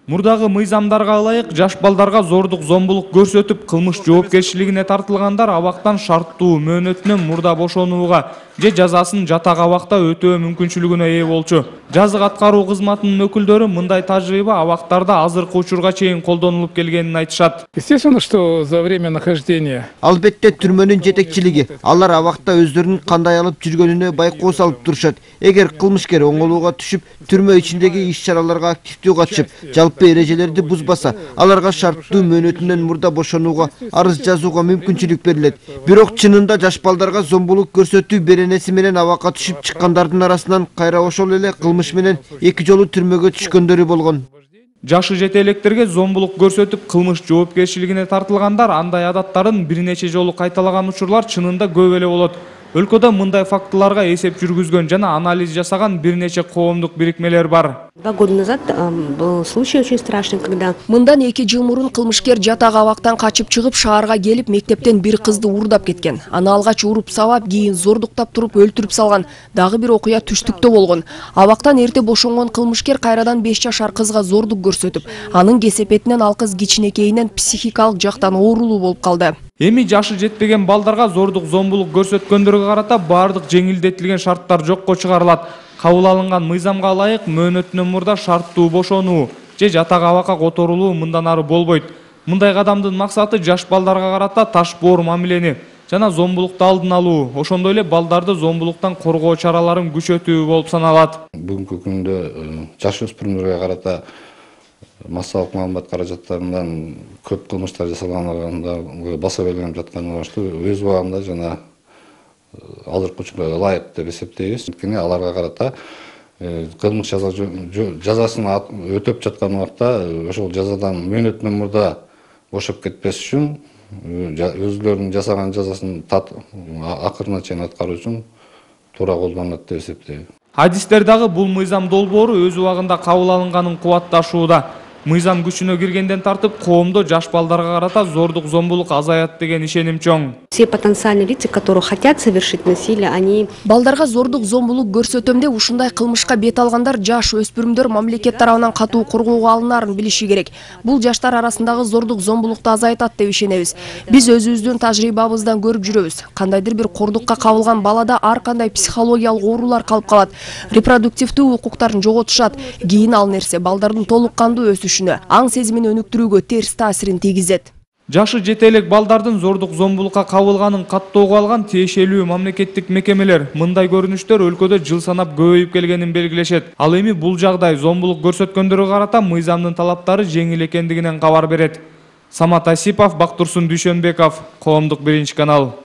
Мурдагы мыйзамдарга ылайык жаш балдарга зордук зомбулук көрсөтүп кылмыш жоопкерчилигине тартылгандар абактан шарттуу мөөнөтүнөн мурда бошонууга же жазасын жатак абакта өтөө мүмкүнчүлүгүнө ээ болчу. Жазык аткаруу кызматынын өкүлдөрү мындай тажрыйба абактарда азыркы учурга чейин колдонулуп келгенин айтышат. Естественно, что за время нахождения. Албетте түрмөнүн жетекчилиги алар абакта өздөрүнүн кандай алып жүргөнүнө байкоо салып турушат. Эгер кылмышкер оңолууга түшүп, түрмө ичиндеги иш-чараларга активдүү катышып, жалпы эрежелерди бузбаса, аларга шарттуу мөөнөтүнөн мурда бошонууга, арыз жазууга мүмкүнчүлүк берилет. Бирок чынында жаш балдарга зомбулук көрсөтүү беренеси менен абакка түшүп чыккандардын арасынан кайра ошол эле кылмыш менен 2 жолу түрмөгө түшкөндөрү болгон. Жашы жете электерге зомбулук көрсөтүп кылмыш жоопкерчилигине тартылгандар андай адаттарын бир нече жолу кайталаган учурлар чынында көп эле болот. Өлкөдө мындай фактыларга эсеп жүргүзгөн жана анализ жасаган бир нече коомдук бирикмелер бар. 2 года назад был случай очень страшный, когда мындан 2 жыл мурун кылмышкер жатак абактан качып чыгып шаарга келип мектептен бир кызды уурдап кеткен. Аны алгач уруп сабап, кийин зордуктап туруп өлтүрүп салган. Дагы бир окуя түштүктө болгон. Абактан эрте бошонгон кылмышкер кайрадан 5 жашар кызга зордук көрсөтүп, анын кесепетинен ал кыз кичинекейинен психикалык жактан оорулуу болуп калды. Эми жашы жетпеген балдарга зордук зомбулук көрсөткөндөргө карата бардык жеңилдетилген шарттар жокко чыгарылат. Кабыл алынган мыйзамга ылайык мөөнөтүнөн мурда шарттуу бошонуу же жатак абакка которулуу мындан ары болбойт. Мындай кадамдын максаты жаш балдарга карата таш боор мамилени жана зомбулукту алдын алуу, ошондой эле балдарды зомбулуктан коргоо чараларын күчөтүү болуп саналат. Бүгүнкү күндө жаш өспүрүмдөргө карата массалык маалымат каражаттарынан көп кылмыштар жасалганда баса белгиленип жатканы баштуу өз убагында жана азыркы учурда ылайык деп эсептейбиз. Анткени аларга карата кылмыш жазасын өтөп жаткан убакта ошол жазадан мөөнөтүнөн мурда бошоп кетпес үчүн өзлөрүнүн жасаган жазасын акырына чейин аткаруу үчүн туура колдонулат деп эсептейм. Хадистер дагы бул мыйзам долбоору өз убагында кабыл алынганын кубатташууда. Мыйзам күчүнө киргенден тартып коомдо жаш балдарга карата зордук зомбулук азаят деген ишеним чоң. Все потенциальные лица, которые хотят совершить насилие, они балдарга зордук зомбулук көрсөтөм деп ушундай кылмышка бет алгандар жаш өспүрүмдөр мамлекет тарабынан катуу коргоого алынаарын билиши керек. Бул жаштар арасындагы зордук зомбулукту азайтат деп ишенебиз. Биз өзүбүздүн тажрыйбабыздан көрүп жүрөбүз. Кандайдыр бир кордукка кабылган балада ар кандай психологиялык оорулар калып калат. Репродуктивдүү укуктарын жоготушат. Кийин ал нерсе балдардын толук кандуу өсүшүнө, аң сезимин өнүктүрүүгө терс таасирин тийгизет. Жашы жете элек балдардын зордук зомбулукка кабылганын каттоого алган тиешелүү мамлекеттик мекемелер мындай көрүнүштөр өлкөдө жыл санап көбөйүп келгенин белгилешет. Ал эми бул жагдай зомбулук көрсөткөндөргө карата мыйзамдын талаптары жеңил экендигинен кабар берет. Самат Асипов, Бактурсун Дүйшөнбеков, Коомдук 1 канал.